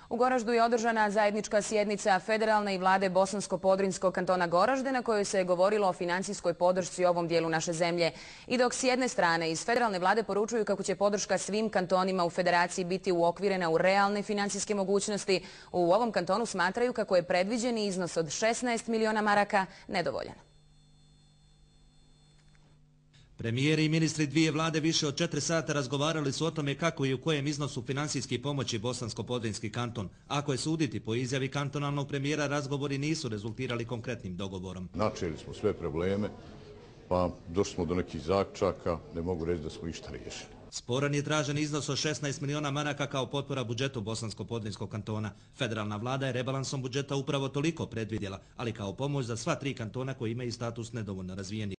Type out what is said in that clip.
U Goraždu je održana zajednička sjednica federalne i vlade Bosansko-Podrinjskog kantona Goražde na kojoj se je govorilo o financijskoj podršci ovom dijelu naše zemlje. I dok s jedne strane iz federalne vlade poručuju kako će podrška svim kantonima u federaciji biti uokvirena u realne financijske mogućnosti, u ovom kantonu smatraju kako je predviđeni iznos od 16 miliona maraka nedovoljan. Premijeri i ministri dvije vlade više od 4 sata razgovarali su o tome kako i u kojem iznosu financijski pomoći Bosansko-Podrinjski kanton. Ako je suditi po izjavi kantonalnog premijera, razgovori nisu rezultirali konkretnim dogovorom. Načeli smo sve probleme, pa došli smo do nekih zaključaka, ne mogu reći da smo išta riješili. Sporan je tražen iznos od 16 miliona maraka kao potpora budžetu Bosansko-Podrinjskog kantona. Federalna vlada je rebalansom budžeta upravo toliko predvidjela, ali kao pomoć za sva 3 kantona koji imaju status nedovoljno razvijeni.